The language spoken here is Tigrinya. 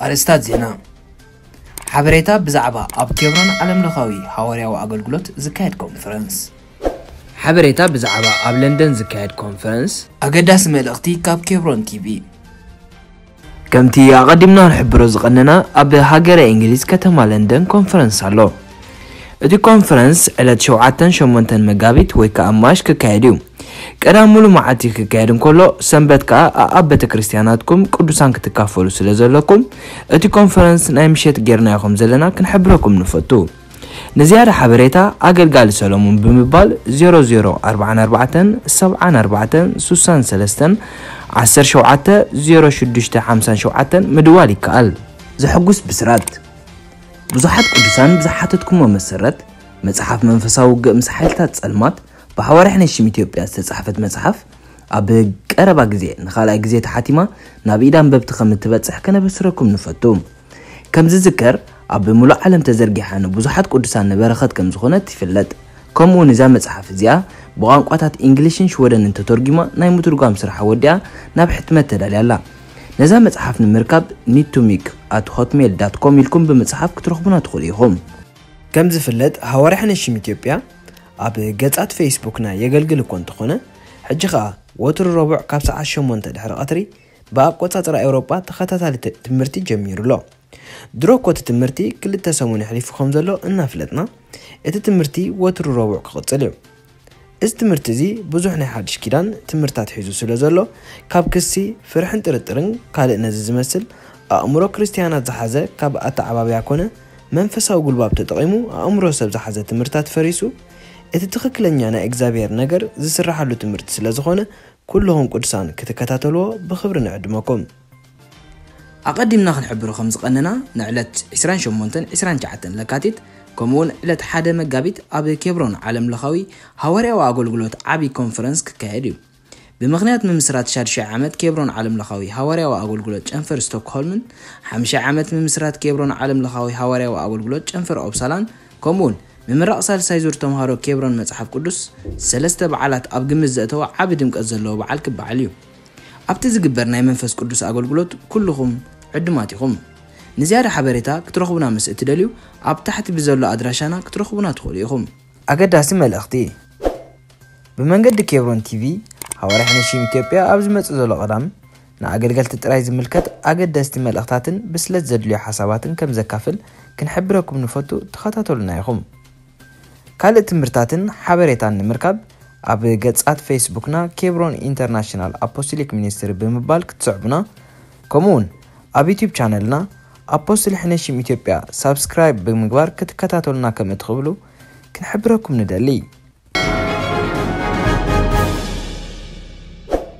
ኣርእስታት ዜና። ሓበሬታ ብዛዕባ ኣብ ኬብሮን ዓለምለኻዊ ሃዋርያዊ ኣገልግሎት ዝካየድ ኮንፈረንስ። ሓበሬታ ብዛዕባ ኣብ ለንደን ዝካየድ ኮንፈረንስ። ኣገዳሲ መልእኽቲ ካብ ኬብሮን ቲቪ። ከምቲ ኣቐዲምና ንሕብሮ ዝቐነና፣ ኣብ ሃገረ እንግሊዝ ከተማ ለንደን ኮንፈረንስ ኣሎ። እቲ ኮንፈረንስ ዕለት ሸውዓተን ሸሞንተን መጋቢት ወይ ከኣ ማሽ ክካየድ እዩ። ቀዳም ሙሉ መዓልቲ ክካየድ እንከሎ፣ ሰንበት ከኣ ኣብ ቤተ ክርስቲያናትኩም ቅዱሳን ክትካፈሉ ስለ ዘለኩም፣ እቲ ኮንፈረንስ ናይ ምሸት ጌርናዮ ከም ዘለና ክንሕብረኩም ንፈቱ። ንዝያዳ ሓበሬታ ኣገልጋሊ ሰሎሞን ብምባል ዜሮ ዜሮ ኣርባዓን ኣርባዕተን ሰብዓን ኣርባዕተን ስሳን ሰለስተን ዓሰርተ ሸውዓተ ዜሮ ሽዱሽተ ሓምሳን ሸውዓተን ምድዋል ይከኣል። ዘሐጉስ ብስራት። ብዙሓት ቅዱሳን ብዝሓተትኩሞ መሰረት፣ መጽሓፍ መንፈሳዊ ውግእ ምስ ሓይልታት ጸልማት ብሃዋርያ ሕነሽም ኢትዮጵያ ዝተጻሕፈት መጽሓፍ፣ ኣብ ቀረባ ግዜ ንኻልኣይ ግዜ ተሓቲማ ናብ ኢድ ኣንበብቲ ከም እትበጽሕ ከነበስረኩም ንፈቱ። ከም ዝዝከር፣ ኣብ ምሉእ ዓለም ተዘርጊሓ ንብዙሓት ቅዱሳን ንበረኸት ከም ዝኾነት ይፍለጥ። ከምኡ እውን እዛ መጽሓፍ እዚኣ ብቋንቋታት እንግሊሽን ሽወደንን ተተርጒማ ናይ ምትርጓም ስራሕ ወዲኣ ናብ ሕትመት ተዳልያ ኣላ። ነዛ መጽሓፍ ንምርካብ ኒቱሚክ ኣት ሆትሜል ዳት ኮም ኢልኩም ብምጽሓፍ ክትረኽቡና ትኽእሉ ኢኹም። ከም ዝፍለጥ፣ ሃዋርያ ሕነሽም ኢትዮጵያ ኣብ ገጻት ፌስቡክና የገልግል እኮ እንተኾነ፣ ሕጂ ኸኣ ወትሩ ረቡዕ ካብ ሰዓት ሸሞንተ ድሕሪ ቀትሪ ብኣቆጻጽራ ኤውሮጳ ተኸታታሊ ት-፣ ትምህርቲ ጀሚሩ ኣሎ። ድሮ እኮ እቲ ትምህርቲ ክልተ ሰሙን የሕሊፉ ከም ዘሎ እናፍለጥና፣ እቲ ትምህርቲ ወትሩ ረቡዕ ክቕጽል እዩ። እዚ ትምህርቲ እዚ ብዙሕ ናይ ሓድሽ ኪዳን ትምህርታት ሒዙ ስለ ዘሎ፣ ካብ ክሲ፣ ፍርሕን ጥርጥርን ካልእ ነዚ ዝመስል ኣእምሮ ክርስትያናት ዝሓዘ ካብ ኣተዓባብያ ኮነ መንፈሳዊ ጉልባብ ተጠቒሙ ኣእምሮ ሰብ ዝሓዘ ትምህርታት ፈሪሱ፣ እቲ ትኽክለኛ ናይ እግዚኣብሔር ነገር ዝስራሓሉ ትምህርቲ ስለ ዝኾነ፣ ኩልኹም ቅዱሳን ክትከታተልዎ ብኽብሪ ንዕድመኩም። ኣቐዲምና ክንሕብሮ ከም ዝቐነና፣ ንዕለት ዕስራን ሸሞንተን ዕስራን ትሽዓተን ለካቲት፣ ከምኡውን ዕለት ሓደ መጋቢት ኣብ ኬብሮን ዓለምለኻዊ ሃዋርያዊ ኣገልግሎት ዓቢ ኮንፈረንስ ክካየድ እዩ። ብምኽንያት ምምስራት ሻድሻይ ዓመት ኬብሮን ዓለምለኻዊ ሃዋርያዊ ኣገልግሎት ጨንፈር ስቶክሆልምን፣ ሓምሻይ ዓመት ምምስራት ኬብሮን ዓለምለኻዊ ሃዋርያዊ ኣገልግሎት ጨንፈር ኦፕሳላን፣ ከምኡውን ምምራቕ ሳልሳይ ዙር ተምሃሮ ኬብሮን መጽሓፍ ቅዱስ፣ ሰለስተ በዓላት ኣብ ግምት ዘእተወ ዓቢ ድምቀት ዘለዎ በዓል ክበዓል እዩ። ኣብቲ ዝግበር ናይ መንፈስ ቅዱስ ኣገልግሎት ኩልኹም ዕዱማት ኢኹም። ንዝያዳ ሓበሬታ ክትረኽቡና ምስ እትደልዩ፣ ኣብ ታሕቲ ብዘሎ ኣድራሻና ክትረኽቡና ትኽእሉ ኢኹም። ኣገዳሲ መልእኽቲ። ብመንገዲ ኬብሮን ቲቪ፣ ሃዋርያ ሕነሽም ኢትዮጵያ ኣብ ዝመጽእ ዘሎ ቀዳም፣ ንኣገልገልቲ ጥራይ ዝምልከት ኣገደስቲ መልእኽታትን ብስለት ዘድልዮ ሓሳባትን ከም ዘካፍል ክንሕብረኩም ንፈቱ፣ ተኸታተሉና ኢኹም። ካልእ ትምህርታትን ሓበሬታን ንምርካብ፣ ኣብ ገጻት ፌስቡክና ኬብሮን ኢንተርናሽናል ኣፖስቶሊክ ሚኒስትሪ ብምባል ክትስዕቡና፣ ከምኡውን ኣብ ዩቲዩብ ቻነልና ኣፖስትል ሕነሽም ኢትዮጵያ ሳብስክራይብ ብምግባር ክትከታተሉና ከም እትኽእሉ ክንሕብረኩም ንደሊ።